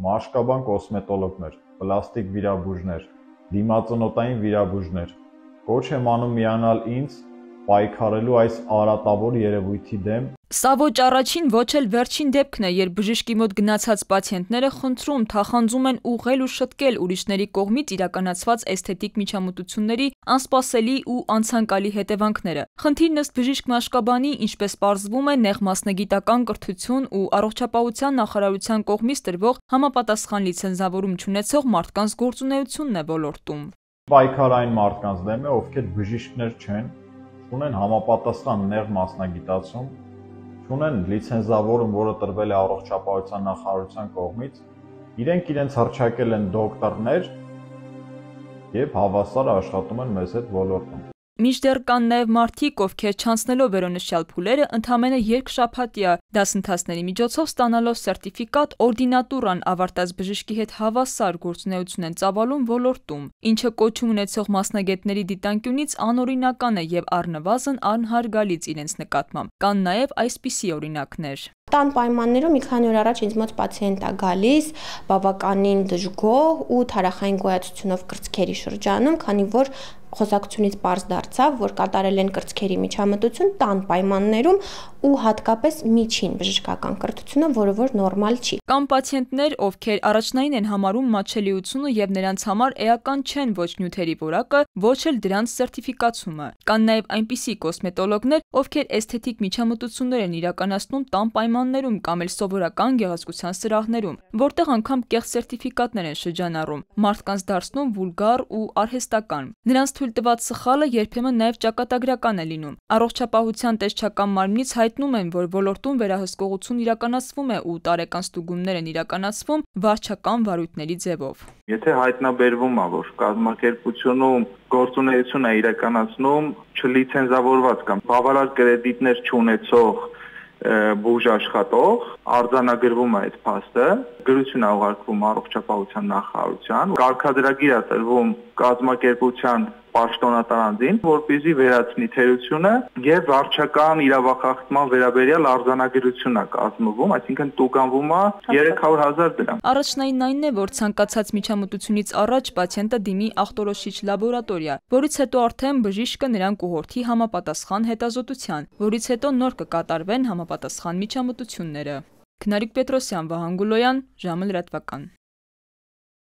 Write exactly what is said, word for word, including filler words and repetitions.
մաշկաբան կոսմետոլոգներ, պլաստիկ վիրաբույժներ, դիմածնոտային վիրաբույժներ։ Կոչ եմ անում միանալ ինձ պայքարելու այս արատավոր երևույթի դեմ։ Սա ոչ առաջին, ոչ էլ վերջին դեպքն է, երբ բժշկի մոտ գնացած պացիենտները խնդրում, թախանձում են ուղղել ու շտկել ուրիշների կողմից իրականացված էսթետիկ միջամտությունների անսպասելի ու անցանկալի հետևանքները։ Խնդիրն ըստ բժիշկ Մաշկաբանի, ինչպես պարզվում է, նեղ մասնագիտական կրթություն ու առողջապահության նախարարության կողմից տրվող համապատասխան լիցենզավորում չունեցող մարդկանց գործունեությունն է ոլորտում։ Պայքարային մարդկանց դեմ է, ովքեր բժիշկներ չեն, ունեն համապատասխան նեղ մասնագիտացում, ունեն լիցենզավորում, որը տրվել է առողջապահության նախարարության կողմից, իրենք իրենց հռչակել են դոկտորներ եւ հավասար աշխատում են մեզ հետ ոլորտում։ Մինչդեռ կան նաև մարդիկ, ովքեր չանցնելով վերոնշյալ փուլերը, ընդամենը երկշաբաթյա դասընթացների միջոցով ստանալով սերտիֆիկատ, օրդինատուրան ավարտած բժշկի հետ հավասար գործունեություն են ծավալում ոլորտում, ինչը կոչում ունեցող մասնագետների դիտանկյունից անօրինական է եւ առնվազն անհարգալից իրենց նկատմամբ։ Կան նաև այսպիսի օրինակներ։ Տան պայմաններում մի քանի օր առաջ ինձ մոտ պացիենտ է գալիս, բավականին դժգոհ ու թարախային գոյացությունով կրծքերի շրջանում, քանի որ խոսակցությունից պարզ դարձավ, որ կատարել են կրծքերի միջամտություն տան պայմաններում ու հատկապես միջին բժշկական կրթությունը, որը որ նորմալ չի։ Կան պացիենտներ, ովքեր առաջնային են համարում մատչելիությունը եւ նրանց համար էական չեն ոչ նյութերի որակը, ոչ էլ դրանց սերտիֆիկացումը։ Կան նաև այնպիսի կոսմետոլոգներ, ովքեր էսթետիկ միջամտություններ են իրականացնում տան պայմաններում կամ էլ սովորական գեղեցկության սրահներում, որտեղ անգամ կեղծ սերտիֆիկատներ են շրջանառում, մարդկանց դարձնում վուլգար ու արհեստական։ Նրանց թույլ տված սխալը երբեմն նաև ճակատագրական է լինում։ Առողջապահության տեսչական մարմնից հայտնում են, որ ոլորտում վերահսկողություն իրականացվում է ու տարեկան ստուգումներ են իրականացվում վարչական վարույթների ձևով։ Եթե հայտնաբերվում է, որ կազմակերպությունում գործունեություն է իրականացնում չլիցենզավորված կամ բավարար կրեդիտներ չունեցող բուժ աշխատող, արձանագրվում է այդ փաստը, գրություն է ուղարկվում առողջապահության նախարարության, կարգադրագիր է տրվում կազմակերպության պաշտոնատարանձին, որպեսզի վերացնի թերությունը եւ վարչական իրավախախտման վերաբերյալ արձանագրություն է կազմվում, այսինքն տուգանվում է երեք հարյուր հազար դրամ։ Առաջնայինն այն է, որ ցանկացած միջամտությունից առաջ պացիենտը դիմի ախտորոշիչ լաբորատորիա, որից հետո արդեն բժիշկը նրան կուղղորդի համապատասխան հետազոտության, որից հետո նոր կկատարվեն համապատասխան միջամտությունները։ Քնարիկ Պետրոսյան, Վահան Գուլոյան, ժամը լրատվական։